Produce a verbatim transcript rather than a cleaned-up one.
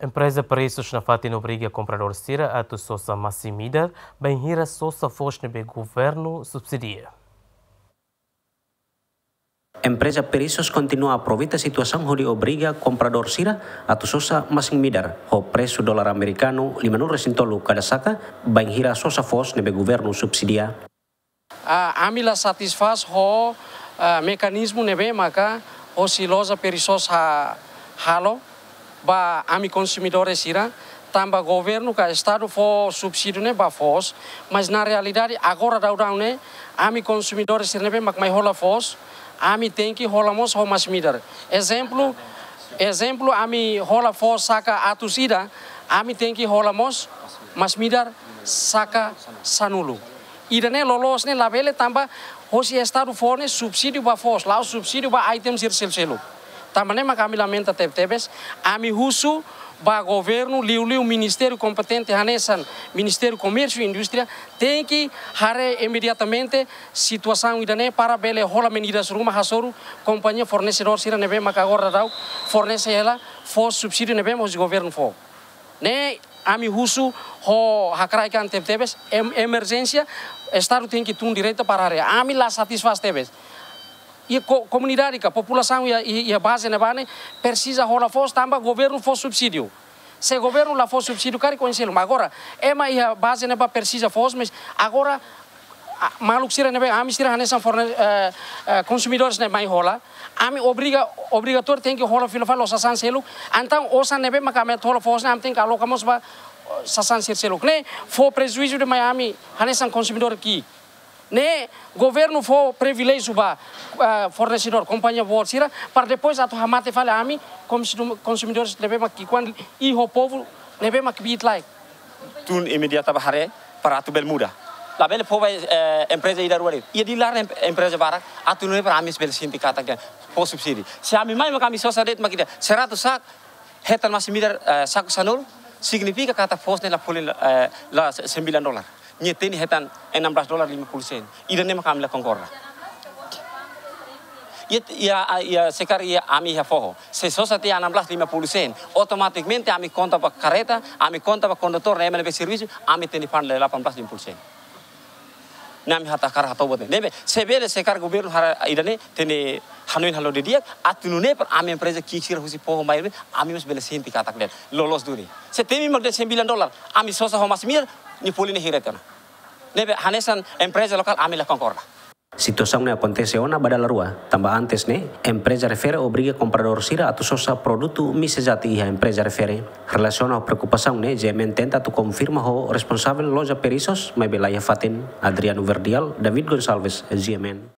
Empreza Preços nafatin obriga kompradór sira atu sosa masin-midar, bainhira sosa foos ne'ebé governu subsidia. Empreza Preços kontinua aproveita situasaun hodi obriga kompradór sira atu sosa masin-midar ho presu dolar amerikanu lima nulu resin tolu kada saka, bainhira sosa foos ne'ebé governu subsidia. Ah, ami la satisfás ho, ah, mekanizmu ne'ebé maka hosi loja Preços ha-, halo ba ami konsumidores sira, tanba governu ka estadu fó subsídiu ne'e ba foos, mas na realidade agora daudaun ne'e ami konsumidores sira ne'ebé mak mai hola foos, ami tenke hola mós ho masin-midar. Ezemplu, ezemplu, ami hola foos saka atus ida, ami tenke hola mós masin-midar saka sanulu. Ida-ne'e loloos ne'e labele tanba hosi estadu fó ne'e subsídiu ba foos, la'ós subsídiu ba item sira seluk-seluk. Tanba ne'e maka ami lamenta tebetebes, ami husu ba governu, liuliu ministériu kompetente hanesan Ministériu Komérsiu i Indústria, tenke haree imediatamente situasaun ida-ne'e para bele hola medidas ruma hasoru kompañia fornesedór sira ne'ebé maka agora daudaun fornese hela foos subsídiu ne'ebé mak governu fó. Ne'e ami husu ho hakarak an tebetebes, em-, emerjénsia, estadu tenke tun direta para haree. Ami la satisfás tebes. I ko-, komunidade ka populasaun iha, iha, iha baze ne'ebá ne'e presiza hola foos tanba governu fó subsídiu. Se governu la fó subsídiu karik oinsá seluk. Agora, ema iha baze ne'ebá presiza foos, mas agora, ah, maluk sira ne'ebé, ami sira hanesan forne-, eh, eh, konsumidores ne'e mai hola, ami obriga, obrigatóriu tenke hola fila fali ho sasán seluk. Entaun osan ne'ebé maka ami atu hola foos ne'e, ami tenke aloka mós ba, oh, sasán sira seluk. Ne'e fó prejuízu demais ami hanesan konsumidór ki'ik. Ne'e governu fó priviléjiu ba, eh, fornesedór, kompañia boot sira, para depois atu hamate fali ami konsumu-, konsumidores ne'ebé mak ki'ikoan i ho povu ne'ebé mak kbiit-laek. Tun imediata ba haree para atu bele muda. Labele fó ba, eh, empreza ida rua de'it. Iha di'ak laran em-, empreza barak, atu nune'e para ami bele sente katak fó subsídiu. Se ami mai maka ami sosa de'it mak ida seratus sak, hetan masin-midar, eh, saku sanulu, signifika katak foos ne'e la folin, eh, la se-, sembilan dolar. Nia hatene hetan enam belas dolar lima puluh sen. Ida-ne'e maka ami la konkorda. Iha, iha, iha, se karik iha ami iha foho. Se sosa tiha enam belas lima puluh sen, otomatikamente ami konta ba kareta, ami konta ba kondutór, ne'e ema ne'ebé servisu, ami hatene paga delapan belas lima puluh sen. Ne'e ami hakarak hato'o buat ne'e. Ne'ebé, se bele se karik governu haree ida-ne'e, hatene hanoin halo didi'ak, atu nune'e para ami empreza ki'ik sira husi foho mai, ami mós bele sente katak de'it loloos duni. Se temi mak de'it sembilan dolar, ami sosa ho masin-midar, nia folin ne'e hira tiha ona. Ne'ebé hanesan empreza lokál ami la konkorda. Situasaun ne'e akontese ona ba dala rua, tanba antes ne'e, empreza refere obriga kompradór sira atu sosa produtu mi sejati iha empreza refere. Relasiona ho preokupasaun ne'e, G M N tenta atu konfirma ho responsavel loja Preços, maibé la iha fatin. Adriano Verdial, David Gonçalves, G M N.